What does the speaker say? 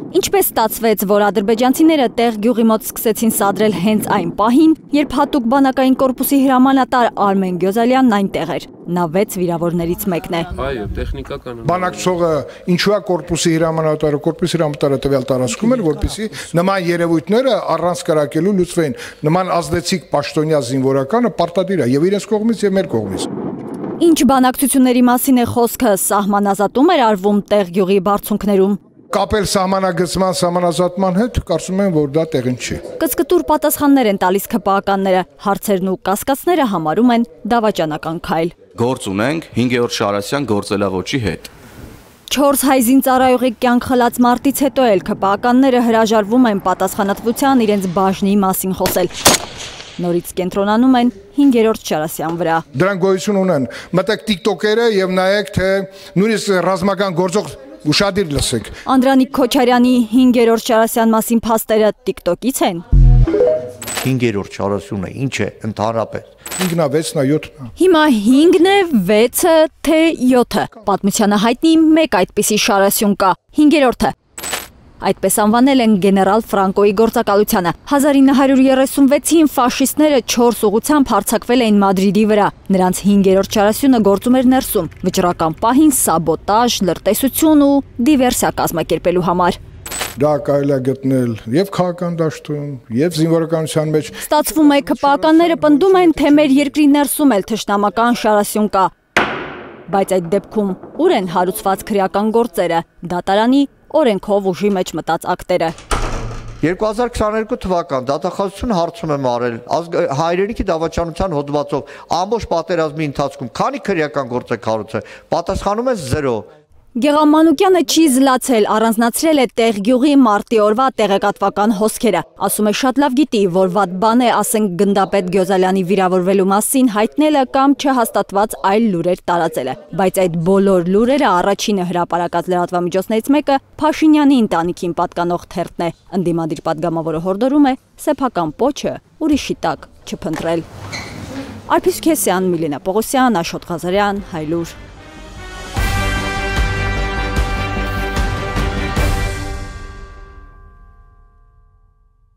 Ինչպես ստացվեց, որ ադրբեջանցիները տեղ գյուղի մոտ սկսեցին սադրել հենց այն պահին, երբ հատուկ բանակային կորպուսի հրամանատար Արմեն Գյոզալյանն այնտեղ էր։ Նա 6 վիրավորներից մեկն է։ Այո, տեխնիկական։ Բանակցողը ինչու է կորպուսի հրամանատարը տվյալ տարածքում էր, որպեսզի նման երևույթները առանց կրակելու լուծվեին։ Նման ազդեցիկ պաշտոնյա զինվորականը պարտադիր է եւ իրենց կողմից եւ մեր կողմից։ Ինչ բանակցությունների մասին է խոսքը, սահմանազատում էր արվում տեղ գյուղի բարձունքներում։ Կապել սահմանագծման սահմանազատման հետ, կարծում եմ, որ դա տեղին չի։ Կծկտուր պատասխաններ են տալիս ՔՊԱ-ականները, հարցերն ու կասկածները համարում են դավաճանական քայլ։ Գործ ունենք 5-րդ Շարասյան գործելավոճի հետ։ 4 հայ զինծառայողի կյանք խլած մարտից հետո էլ ՔՊԱ-ականները հրաժարվում են պատասխանատվության իրենց բաժնի մասին խոսել։ Նորից կենտրոնանում են 5-րդ Շարասյան վրա։ Դրանք գոյություն ունեն։ Մտեք TikTok-երը եւ նայեք, թե նույնիսկ ռազմական գործող ուշադիր լսեք։ Անդրանիկ Քոչարյանի 5-րդ Շարասյան մասին փաստերը TikTok-ից են։ 5-րդ Շարասյունը ինչ է ընդհանրապես։ 5-ն է, 6-ն է, 7-ն է։ Հիմա 5-ն է, 6-ը, թե 7-ը։ Պատմությանը հայտնի մեկ այդպիսի Շարասյուն կա, 5-րդը։ Այդպես անվանել են գեներալ Ֆրանկոյի գործակալությանը։ 1936-ին ֆաշիստները 4 ուղղությամբ հարձակվել էին Մադրիդի վրա։ Նրանց 5-րդ Շարասյունը գործում էր ներսում, վճռական պահին սաբոտաժ, լրտեսություն ու դիվերսիա կազմակերպելու համար։ Դա կարելի է գտնել եւ քաղաքական դաշտում, եւ զինվորականության մեջ։ Ստացվում է ՔՊԱ-ականները պնդում են, թե մեր երկրի ներսում էլ թշնամական Շարասյուն կա։ Բայց այդ դեպքում ուր են հարուցված քրեական գործերը, դատարանի օրենքով ուժի մեջ մտած ակտերը։ 2022 թվական դատախազությունը հարցում եմ արել հայրենիքի դավաճանության հոդվածով ամբողջ պատերազմի ընթացքում քանի քրեական գործ է կառուցել, պատասխանում է 0։ Գեղամ չի զլացել, առանձնացրել է տեղ գյուղի մարտի օրվա տեղեկատվական հոսքերը։ Ասում է շատ լավ գիտի, որ վատ բան է, ասենք գնդապետ Գյոզալյանի վիրավորվելու մասին հայտնելը կամ չհաստատված այլ լուրեր տարածելը։ Բայց այդ բոլոր լուրերը առաջինը հրապարակած լրատվամիջոցներից մեկը Փաշինյանի ընտանիքին պատկանող թերթն է։ Ընդդիմադիր պատգամավորը հորդորում է սեփական պոչը ուրիշի տակ չփնտրել։ Արփիս Քեսյան, Միլենա Պողոսյան, Աշոտ Ղազարյան, Հայլուր։